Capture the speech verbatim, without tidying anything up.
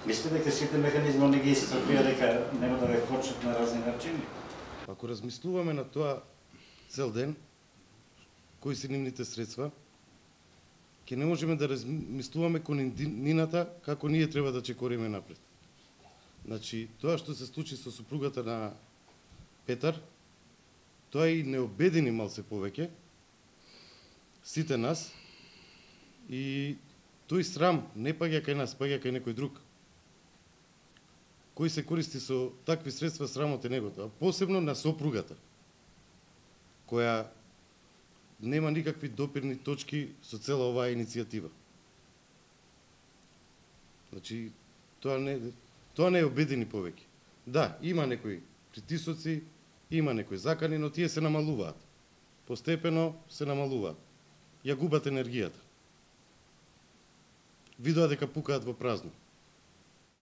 Мислите дека сите механизми не ги исцрпија, дека нема да ве кочат на разни начини? Ако размислуваме на тоа цел ден, кои се нивните средства, ќе не можеме да размислуваме кон нината како ние треба да чекориме напред. Значи, тоа што се случи со супругата на Петар, тоа и не обедини малце повеќе сите нас, и тој срам не паѓа кај нас, паѓа кај некој друг, кој се користи со такви средства, срамот е негото, а посебно на сопругата, која нема никакви допирни точки со цела оваа иницијатива. Значи, тоа не, тоа не е обедини повеќе. Да, има некои притисоци, има некои закани, но тие се намалуваат. Постепено се намалуваат. Ја губат енергијата. Видоа дека пукаат во празно.